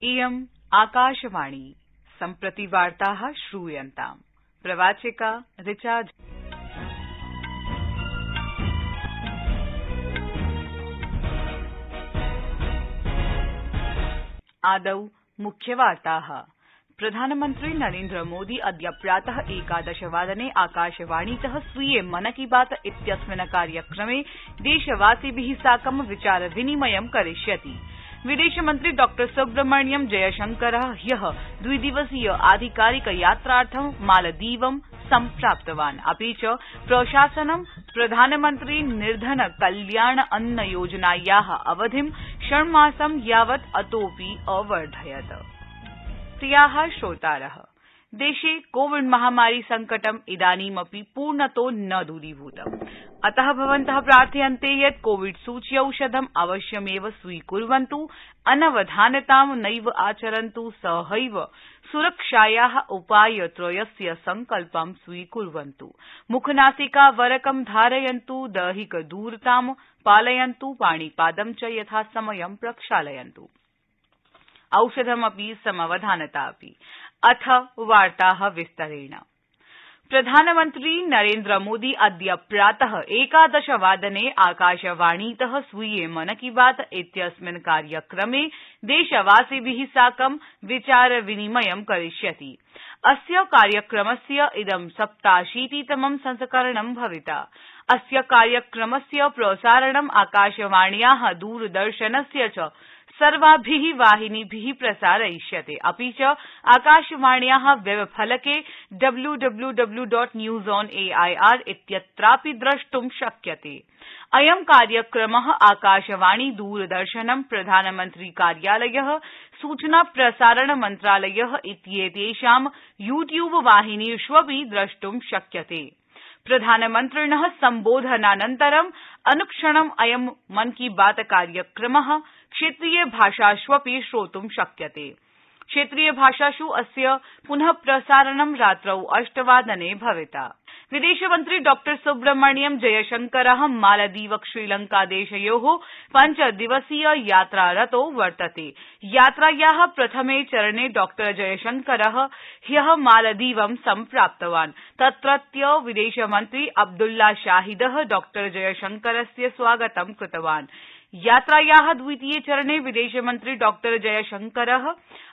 इयम् आकाशवाणी सम्प्रति वार्ताः श्रूयन्ताम्। प्रवाचिका ऋचा। आदौ मुख्यवार्ताः। प्रधानमन्त्री नरेन्द्र मोदी अद्य प्रातः 11 वादने आकाशवाणीतः स्वीये मन की बात इत्यस्मिन् कार्यक्रमे देशवासिभिः साकं विचार विनिमयं करिष्यति। विदेशमन्त्री डॉ सुब्रह्मण्यम जयशंकरः ह्यः द्विदिवसीय आधिकारिक यात्रार्थं मालदीवं सम्प्राप्तवान्। अपि च प्रशासनं प्रधानमन्त्री निर्धन कल्याण अन्न योजनायाः अवधिं षण्मासं यावत् अतोऽपि अवर्धयत्। प्रियाः श्रोतारः, देशे कोविड महामारी संकटम् इदानीमपि पूर्णतो न दूरीभूतम्। अतः भवन्तः प्रार्थयन्ते यत् कोविड सूच्यौषधम् अवश्यमेव स्वीकुर्वन्तु, अनवधानतां नैव आचरन्तु, सहैव सुरक्षायाः उपायत्रयस्य सङ्कल्पं स्वीकुर्वन्तु। मुखनासिकावरकं धारयन्तु, दैहिकदूरतां पालयन्तु, पाणिपादं च यथासमयं प्रक्षालयन्तु। औषधमपि समवधानतापि। अथ वार्ताः विस्तरेण। प्रधानमन्त्री नरेन्द्र मोदी अद्य प्रातः 11 वादने आकाशवाणीतः स्वीये मन की बात इत्यस्मिन् कार्यक्रमे देशवासिभिः साकं विचार विनिमयं करिष्यति। अस्य कार्यक्रमस्य इदं 87तमं संस्करणं भविता। अस्य कार्यक्रमस्य प्रसारणम् आकाशवाण्याः दूरदर्शनस्य च सर्वाभिः वाहिनीभिः प्रसारयिष्यते। अपि च आकाशवाण्याः वेबफलके www.newsonair इत्यत्रापि द्रष्टुं शक्यते। अयं कार्यक्रमः आकाशवाणी, दूरदर्शनं, प्रधानमन्त्री कार्यालयः, सूचना प्रसारण मन्त्रालयः इत्येतेषां यूट्यूब वाहिनीष्वपि द्रष्टुं शक्यते। प्रधानमन्त्रिणः सम्बोधनानन्तरं अनुक्षणम् अयं मन की बात कार्यक्रमः क्षेत्रीय भाषाष्वपि श्रोतुं शक्यते। क्षेत्रीय भाषासु अस्य पुनः प्रसारणं रात्रौ 8 वादने भविता। विदेशमन्त्री डॉ सुब्रह्मण्यम जयशंकरः मालदीव श्रीलंकादेशयोः 5 दिवसीय यात्रारतो वर्तते। यात्रायाः प्रथमे चरणे डॉ जयशंकरः ह्यः मालदीवं सम्प्राप्तवान्। तत्रत्य विदेशमन्त्री अब्दुल्ला शाहिदः डॉ जयशंकरस्य स्वागतं कृतवान्। यात्रायाः द्वितीये चरणे विदेशमन्त्री डॉ जयशंकरः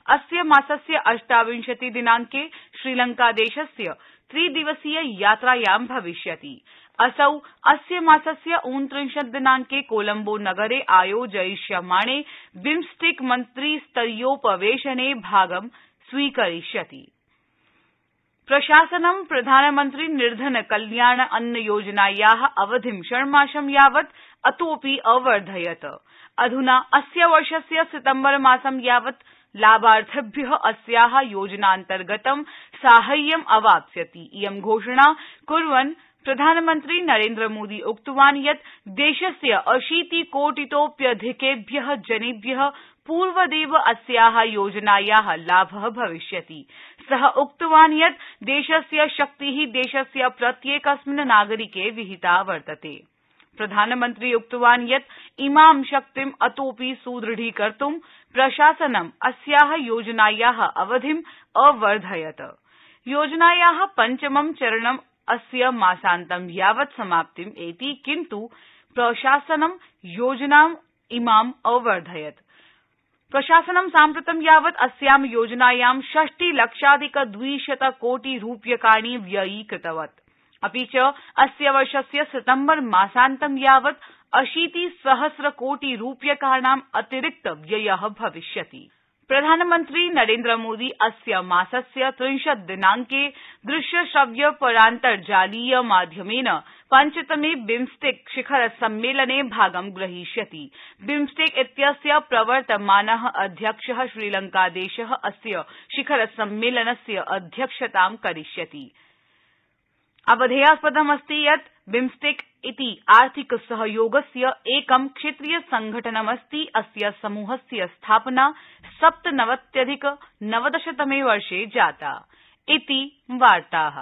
अस्य मासस्य 28 दिनांके श्रीलंकादेशस्य 3 दिवसीय यात्रायां भविष्यति। असौ अस्य मासस्य 29 दिनांके कोलंबो नगरे आयोजयिष्यमाणे बिम्स्टेक मन्त्रिस्तरीयोपवेशने भागं स्वीकरिष्यति। प्रशासनं प्रधानमन्त्री निर्धन कल्याण अन्न योजनायाः अवधिं षण्मासं यावत् अतोऽपि अवर्धयत्। अधुना अस्य वर्षस्य सितम्बर मासं यावत् लाभार्थिभ्यः अस्याः योजनान्तर्गतं साहाय्यम् अवाप्स्यति। इयं घोषणा कुर्वन् प्रधानमन्त्री नरेन्द्र मोदी उक्तवान् यत् देशस्य 80 कोटितोऽप्यधिकेभ्यः जनेभ्यः पूर्वदेव अस्याः योजनायाः लाभः भविष्यति। सः उक्तवान् यत् देशस्य शक्तिः देशस्य प्रत्येकस्मिन् नागरिके विहिता वर्तते। प्रधानमन्त्री उक्तवान् यत् इमां शक्तिम् अतोऽपि सुदृढीकर्तुं प्रशासनं अस्याः योजनायाः अवधिम् अवर्धयत्। योजनायाः 5मं चरणम् अस्य मासान्तं यावत् समाप्तिम् एति, किन्तु प्रशासनं योजनाम् इमाम् अवर्धयत्। प्रशासनं साम्प्रतं यावत् अस्यां योजनायां 60,00,200 कोटि रूप्यकाणि व्ययीकृतवत्। अपि च अस्य वर्षस्य सितम्बर मासान्तं यावत् 80,000 कोटि रूप्यकाणाम् अतिरिक्त व्ययः भविष्यति। प्रधानमन्त्री नरेन्द्र मोदी अस्य मासस्य 30 दिनांके दृश्यश्रव्य परान्तर्जालीय माध्यमेन 5तमे बिम्स्टेक शिखर सम्मेलने भागं ग्रहीष्यति। बिम्स्टेक इत्यस्य प्रवर्तमानः अध्यक्षः श्रीलंकादेशः अस्य शिखर सम्मेलनस्य अध्यक्षतां करिष्यति। अवधेयास्पदमस्ति यत् बिम्स्टेक इति आर्थिक सहयोगस्य एकं क्षेत्रीय संघटनमस्ति। अस्य समूहस्य स्थापना 97-90 तमे वर्षे जाता। इति वार्ताः।